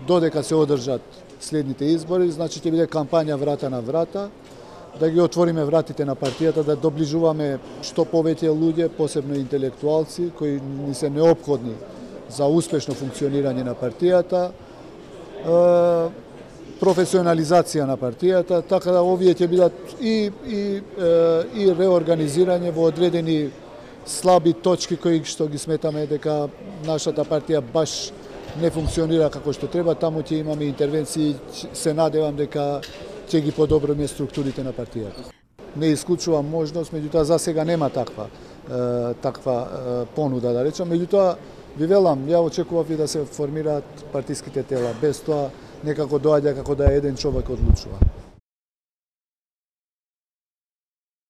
додека се одржат следните избори, значи ќе биде кампања врата на врата, да ги отвориме вратите на партијата, да доближуваме што повеќе луѓе, посебно интелектуалци, кои ни се неопходни за успешно функционирање на партијата, професионализација на партијата, така да овие ќе бидат и реорганизирање во одредени слаби точки кои што ги сметаме дека нашата партија баш не функционира како што треба, таму ќе имаме интервенции, се надевам дека ќе ги подобриме структурите на партијата. Не исклучувам можност, меѓутоа за сега нема таква понуда, да речам, меѓутоа ви велам, ја очекував и да се формираат партиските тела, без тоа некако доаѓа како да еден човек одлучува.